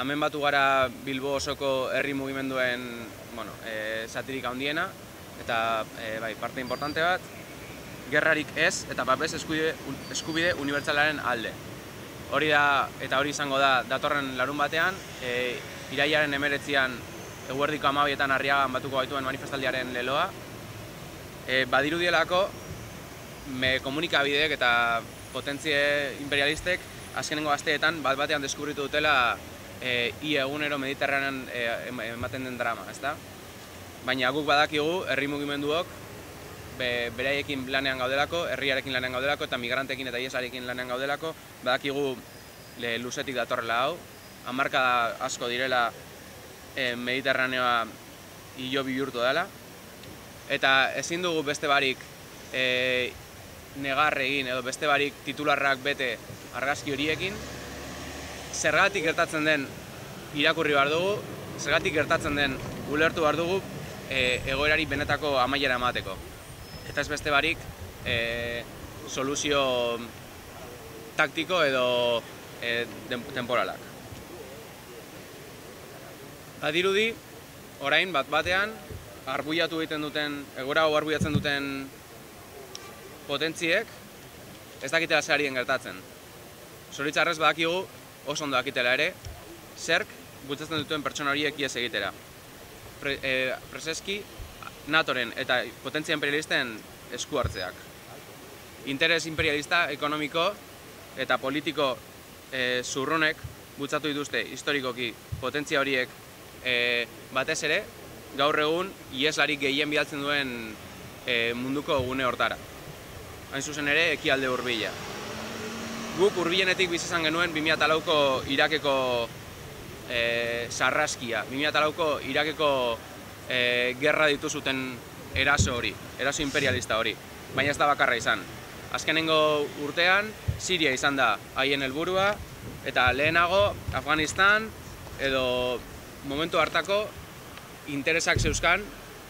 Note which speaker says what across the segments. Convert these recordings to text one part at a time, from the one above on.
Speaker 1: Hemen batu gara Bilbo osoko herri mugimenduen zatirik handiena, eta parte importante bat, gerrarik ez eta babes eskubide unibertsalaren alde. Hori da, eta hori izango da datorren larun batean, irailaren 19an eguerdiko 12etan Arriagan batuko gaituen manifestaldiaren leloa. Badirudielako komunikabideek eta potentzie imperialistek azkenengo asteetan bat-batean deskubritu dutela ia egunero Mediterranean ematen den drama, ezta? Baina guk badakigu herri mugimenduok beraiekin lanean gaudelako, herriarekin lanean gaudelako eta migranteekin eta iesarekin lanean gaudelako, badakigu luzetik datorrela hau, hamarkada asko direla Mediterraneoa hilobi bihurtu dela, eta ezin dugu beste barik negar egin edo beste barik titularrak bete argazki horiekin. Zergatik gertatzen den irakurri behar dugu, zergatik gertatzen den ulertu behar dugu egoerari benetako amaiera emateko. Eta ez beste barik soluzio taktiko edo temporalak. Badirudi, orain bat-batean, arbuiatu egiten duten, egoera hau arbuiatzen duten potentziek ez dakitela zer arien gertatzen. Zoritxarrez badakigu, oso ondo dakitela ere, zerk bultzatzen duten pertsona horiek ihes egitera. Preseski, NATOren eta potentzia imperialisten esku hartzeak. Interes imperialista, ekonomiko eta politiko zurrunek bultzatu dituzte historikoki potentzia horiek batez ere, gaur egun iheslarik gehien bidaltzen duen munduko gune hortara. Hain zuzen ere, ekialde hurbila. Guk hurbilenetik bizi izan genuen 2004ko Irakeko sarraskia, 2004ko Irakeko gerra dituzuten eraso hori, eraso imperialista hori, baina ez da bakarra izan. Azkenengo urtean, Siria izan da haien helburua, eta lehenago Afganistan edo momentu hartako interesak zeuzkan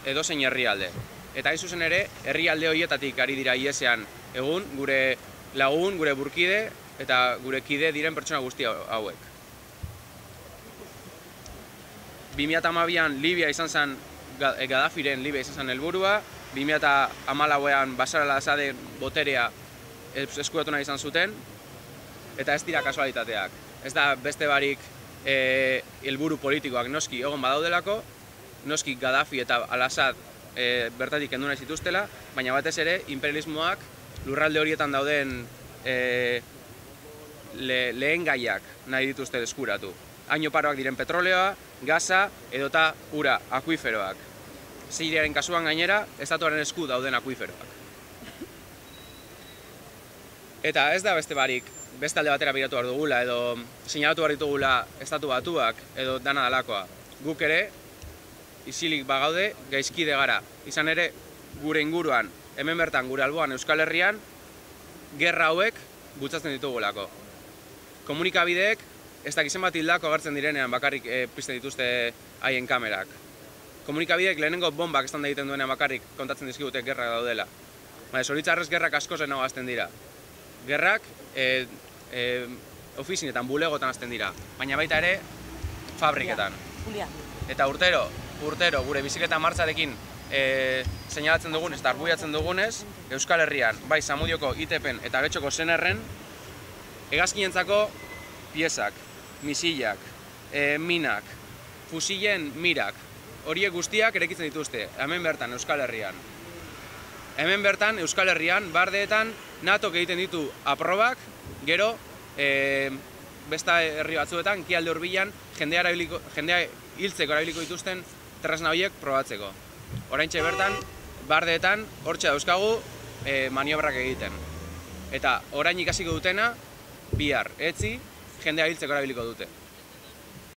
Speaker 1: edozein herrialde. Eta hain zuzen ere, herrialde horietatik ari dira ihesean egun gure lagun, gure burkide eta gure kide diren pertsona guzti hauek. 2012an Libia izan zen, Gaddafiren Libia izan zen helburua, 2014an Bashar al-Assaden boterea eskuratu nahi izan zuten, eta ez dira kasualitateak. Ez da beste barik helburu politikoak noski egon badaudelako, noski Gaddafi eta al-Assad bertatik kendu nahi zituztela, baina batez ere imperialismoak lurralde horietan dauden lehen gaiak nahi dituzte eskuratu. Hain oparoak diren petroleoa, gaza edota ura, akuiferoak. Siriaren kasuan gainera, estatuaren esku dauden akuiferoak. Eta ez da beste barik, beste alde batera biratu behar dugula edo seinalatu behar ditugula estatu batuak edo dana dalakoa. Guk ere, isilik bagaude, gaizkide gara. Izan ere, gure inguruan, hemen bertan gure alboan Euskal Herrian, gerra hauek bultzatzen ditugulako. Komunikabideek, ez dakizen bat hildako agertzen direnean bakarrik pizten dituzte haien kamerak. Komunikabideek lehenengo bombak estanda egiten duenean bakarrik kontatzen dizkigute gerrak daudela. Baina zoritxarrez gerrak asko zenago azten dira. Gerrak ofizinetan, bulegotan azten dira, baina baita ere fabriketan. Eta urtero gure bizikleta martxarekin seinalatzen dugunez eta arbuiatzen dugunez, Euskal Herrian, bai Zamudioko ITPen eta Getxoko Senerren, hegazkinentzako piezak, misilak, minak, fusilen mirak, horiek guztiak eraikitzen dituzte, hemen bertan Euskal Herrian. Hemen bertan Euskal Herrian, bardeetan, NATOk egiten ditu aprobak, gero, beste herri batzuetan, ekialde hurbilan, jendea hiltzeko erabiliko dituzten tresna horiek probatzeko. Oraintxe bertan, bardeetan, hortxe dauzkagu maniobrak egiten. Eta orain ikasiko dutena, bihar, etzi, jendea hiltzeko erabiliko dute.